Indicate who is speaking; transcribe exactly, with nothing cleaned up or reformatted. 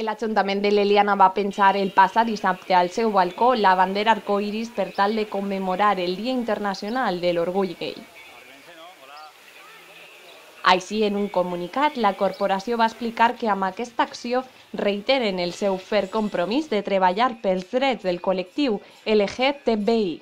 Speaker 1: L'Ajuntament de l'Eliana va penjar el passat dissabte al seu balcó la bandera arcoïris per tal de commemorar el Dia Internacional de l'Orgull Gai. Així, en un comunicat, la corporació va explicar que amb aquesta acció reiteren el seu ferm compromís de treballar pels drets del col·lectiu L G T B I.